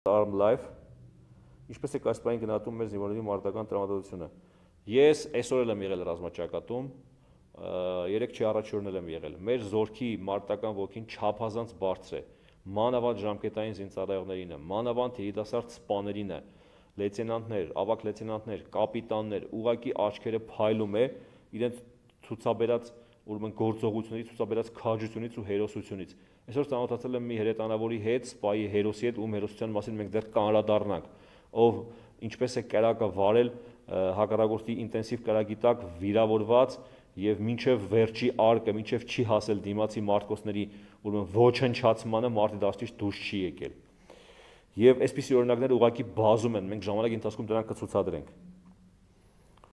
Arm Life, ինչպես եք այս պահին գնահատում մեր զինվորների մարտական տրամադրությունը։ Ես այսօր էլ եմ եղել ռազմաճակատում, 3 առաջ օրն եմ եղել։ Մեր զորքի մարտական ոգին չափազանց բարձր է, մանավանդ ժամկետային զինծառայողներինը, մանավանդ երիտասարդ սպաներինը, լեյտենանտներ, ավագ լեյտենանտներ, կապիտաններ, ուղղակի աչքերը փայլում է իրենց ցուցաբերած ուրեմն գործողությունից, ցուցաբերած քաջությունից ու հերոսությունից։ Այսօր ծանոթացել եմ մի հրետանավորի հետ, սպայի հերոսի հետ, ում հերոսության մասին մենք դեռ կանրադառնանք, ով ինչպես է կրակը վարել հակառակորդի ինտենսիվ կրակի տակ վիրավորված եւ մինչեւ վերջի արկը, մինչեւ չի հասել դիմացի մարտկոցների ուրեմն ոչնչացմանը մարտի դաշտից դուրս չի եկել։ Եվ այսպիսի օրինակները ուղղակի բազում են, մենք ժամանակի ընթացքում դրանք կցուցադրենք։